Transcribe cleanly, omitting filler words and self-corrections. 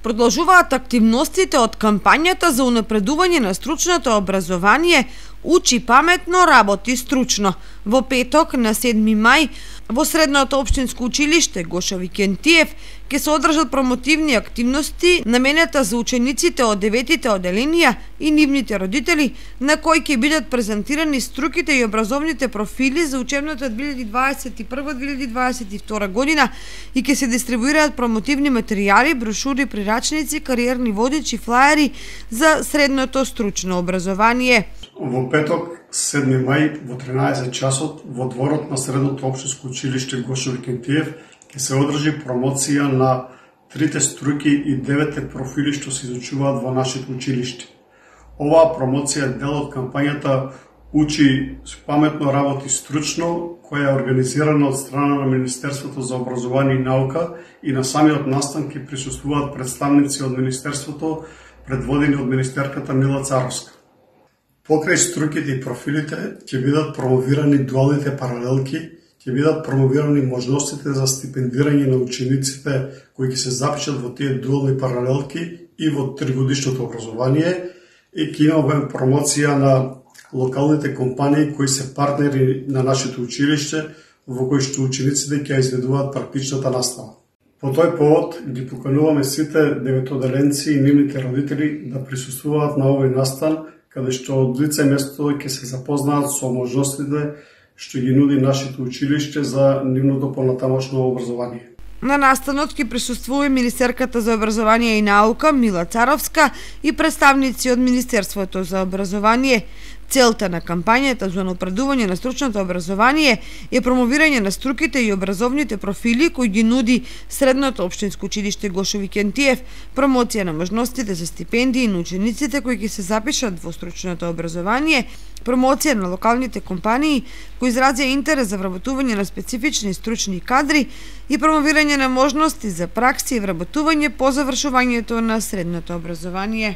Продолжуваат активностите од кампањата за унапредување на стручното образование Учи паметно, работи стручно. Во петок на 7 мај во Средното општинско училиште Гошо Викентиев ќе се одржат промотивни активности наменета за учениците од 9-тите оделенија и нивните родители, на кои ќе бидат презентирани струките и образовните профили за учебната 2021-2022 година и ќе се дистрибуираат промотивни материјали, брошури, прирачници, кариерни водичи, флаери за средното стручно образование. Во петок, 7 мај, во 13 часот, во дворот на Средното општинско училиште Гошо Викентиев ќе се одржи промоција на 3 струки и 9 профили што се изучуваат во нашето училиште. Оваа промоција е дел од кампањата Учи паметно, работи стручно, која е организирана од страна на Министерството за образование и наука и на самиот настан ќе присуствуваат представници од Министерството, предводени од министерката Мила Царовска. Покрај струките и профилите ќе бидат промовирани дуалните паралелки, ќе бидат промовирани можностите за стипендирање на учениците кои ќе се запишат во тие дуални паралелки и во тригодишното образование и ќе имаме промоција на локалните компании кои се партнери на нашето училиште во кои што учениците ќе изведуваат практичната настава. По тој повод ги покануваме сите деветоделенци и нивните родители да присуствуваат на овој настан, каде што од лице место ќе се запознаат со можностите што ги нуди нашето училиште за нивното понатамошно образование. На настанот ќе присуствува министерката за образование и наука Мила Царовска и представници од Министерството за образование. Целта на кампањата за унапредување на стручното образование е промовирање на струките и образовните профили кои ги нуди Средното општинско училиште Гошо Викентиев, промоција на можностите за стипендии на учениците кои ќе се запишат во стручното образование, промоција на локалните компании кои изразија интерес за вработување на специфични стручни кадри и промовирање на можности за пракси и вработување по завршувањето на средното образование.